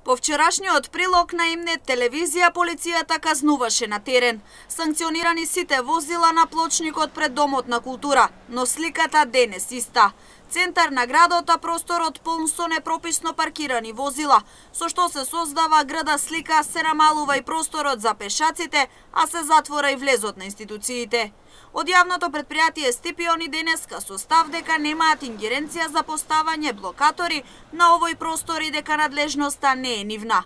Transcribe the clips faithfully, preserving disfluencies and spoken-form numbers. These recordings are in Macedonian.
По вчерашниот прилог на Имнет телевизија, полицијата казнуваше на терен. Санкционирани сите возила на плочникот пред Домот на култура, но сликата денес иста. Центар на градот, а просторот полн со непрописно паркирани возила, со што се создава града слика, се намалува и просторот за пешаците, а се затвора и влезот на институциите. Од јавното предпријатие Стипион и денеска со став дека немаат ингеренција за поставање блокатори на овој простор и дека надлежноста не е нивна.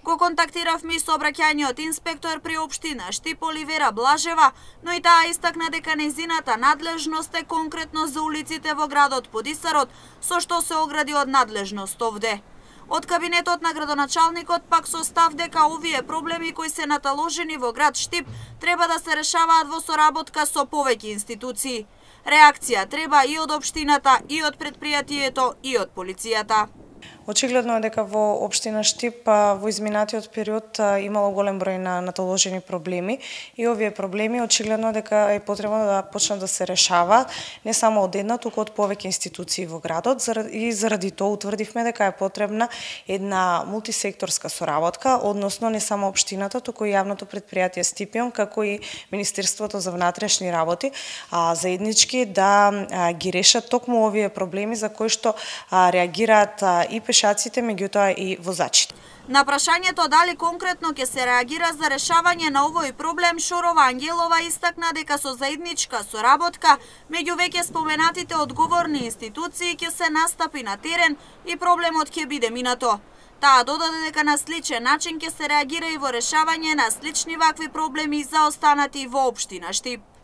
Го контактиравме со обраќањот инспектор при општина Штип Оливера Блажева, но и таа истакна дека нејзината надлежност е конкретно за улиците во градот Подисарот, со што се огради од надлежност овде. Од кабинетот на градоначалникот пак со став дека овие проблеми кои се наталожени во град Штип треба да се решаваат во соработка со повеќе институции. Реакција треба и од општината, и од предпријатието, и од полицијата. Очигледно е дека во општина Штип во изминатиот период имало голем број на наталожени проблеми и овие проблеми очигледно дека е потребно да почнат да се решаваат не само од една, туку од повеќе институции во градот и заради тоа утврдивме дека е потребна една мултисекторска соработка, односно не само општината, туку и јавното предпријатие Стипион, како и Министерството за внатрешни работи, а, заеднички да а, ги решат токму овие проблеми за кои што а, реагираат а, и пешаците, меѓутоа и возачите. На прашањето дали конкретно ќе се реагира за решавање на овој проблем, Шорова Ангелова истакна дека со заедничка соработка меѓу веќе споменатите одговорни институции ќе се настапи на терен и проблемот ќе биде минато. Таа додаде дека на сличен начин ќе се реагира и во решавање на слични вакви проблеми за останати во општина Штип.